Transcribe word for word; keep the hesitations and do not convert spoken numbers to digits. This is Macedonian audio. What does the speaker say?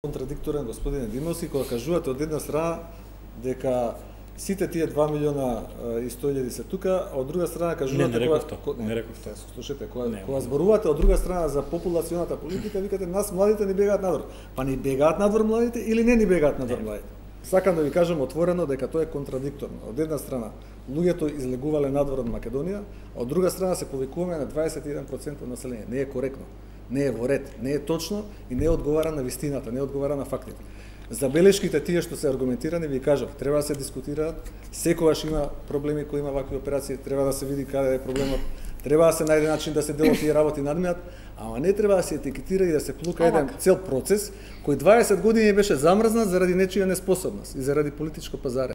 Контрадикторен господине Димовски кога кажувате од една страна дека сите тие два милиона и сто илјади се тука, а од друга страна кажувате не, не реков кога не, не реков тоа. Слушате, кога не, кога зборувате од друга страна за популационата политика, викате нас младите не бегаат надвор. Па ни бегаат надвор младите или не ни бегаат надвор младите? Сакам да ви кажам отворено дека тоа е контрадикторно. Од една страна луѓето излегувале надвор од Македонија, а од друга страна се повикуваме на дваесет и еден проценти од население. Не е коректно. Не е во ред, не е точно и не одговара на вистината, не одговара на фактите. Забелешките тие што се аргументирани, ви кажав, треба да се дискутираат, секогаш има проблеми кои има вакви операции, треба да се види каде е проблемот, треба да се најде начин да се делат тие работи надминат, ама не треба да се етикетира и да се плука еден цел процес кој дваесет години беше замрзнат заради нечија неспособност и заради политичко пазарење.